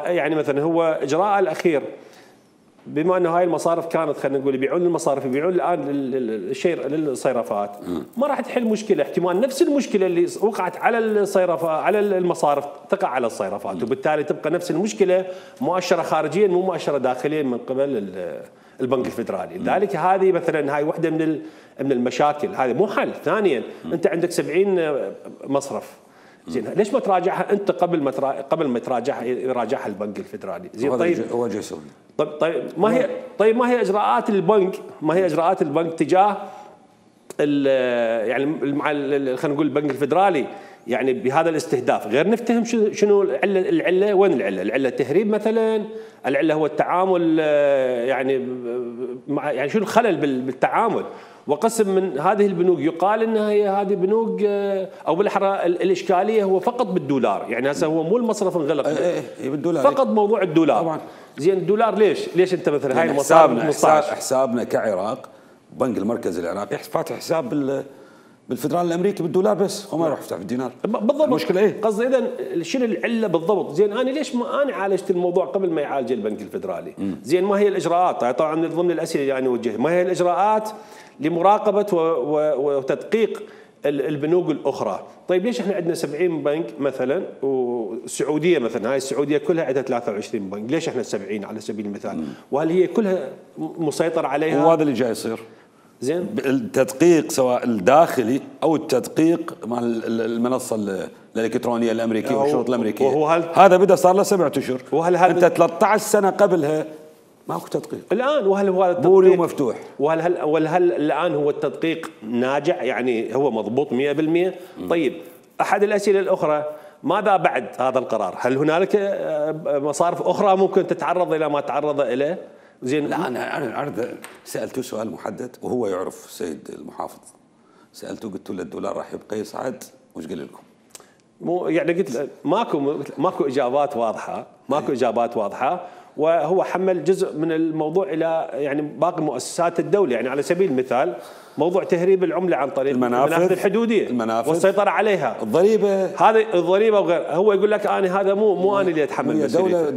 يعني مثلا هو اجراء الاخير، بما انه هاي المصارف كانت خلينا نقول يبيعون للمصارف، يبيعون الان الشيء للصيرفات، ما راح تحل مشكله، احتمال نفس المشكله اللي وقعت على الصيرفه على المصارف تقع على الصيرفات، وبالتالي تبقى نفس المشكله مؤشره خارجيا مو مؤشره داخليا من قبل البنك الفدرالي. لذلك هذه مثلا هاي وحده من المشاكل، هذه مو حل. ثانيا انت عندك 70 مصرف، زين ليش ما تراجعها انت قبل ما يراجعها البنك الفدرالي؟ زين طيب هو جاي يسوي. طيب ما هي اجراءات البنك؟ ما هي اجراءات البنك تجاه يعني مع خلينا نقول البنك الفدرالي يعني بهذا الاستهداف؟ غير نفتهم شنو العله، وين العله؟ العله تهريب مثلا، العله هو التعامل يعني يعني شنو الخلل بالتعامل؟ وقسم من هذه البنوك يقال انها هي هذه بنوك او بالاحرى الاشكاليه هو فقط بالدولار، يعني هسه هو مو المصرف انغلق بالدولار، فقط موضوع الدولار طبعا. زين الدولار ليش انت مثلا هاي المصارف حسابنا كعراق البنك المركزي العراقي فاتح حساب بالفدرالي الامريكي بالدولار بس، هو ما يروح يفتح بالدينار بالضبط. المشكله ايه؟ قصدي اذا شنو العله بالضبط؟ زين انا ليش ما انا عالجت الموضوع قبل ما يعالج البنك الفدرالي؟ زين ما هي الاجراءات؟ طبعا من ضمن الاسئله اللي انا اوجهها، ما هي الاجراءات لمراقبه وتدقيق البنوك الاخرى؟ طيب ليش احنا عندنا 70 بنك مثلا، والسعوديه مثلا هاي السعوديه كلها عندها 23 بنك، ليش احنا 70 على سبيل المثال؟ وهل هي كلها مسيطر عليها؟ وهذا اللي جاي يصير. زين التدقيق سواء الداخلي او التدقيق مع المنصه الالكترونيه الامريكيه والشروط الامريكيه، هذا بدا صار له 7 اشهر، انت 13 سنه قبلها ماكو تدقيق الان. وهل هو هذا التدقيق مفتوح؟ وهل الان هو التدقيق ناجح؟ يعني هو مضبوط 100%؟ طيب احد الاسئله الاخرى، ماذا بعد هذا القرار؟ هل هنالك مصارف اخرى ممكن تتعرض الى ما تعرض اليه؟ زين لا انا سالته سؤال محدد وهو يعرف السيد المحافظ، سالته قلت له الدولار راح يبقى يصعد، وش قال لكم؟ مو يعني قلت ماكو اجابات واضحه، ماكو اجابات واضحه، وهو حمل جزء من الموضوع الى يعني باقي مؤسسات الدوله، يعني على سبيل المثال موضوع تهريب العمله عن طريق المنافذ الحدوديه والسيطره عليها، الضريبه، هذه الضريبه وغيرها. هو يقول لك انا هذا مو انا اللي اتحمل مسؤوليته.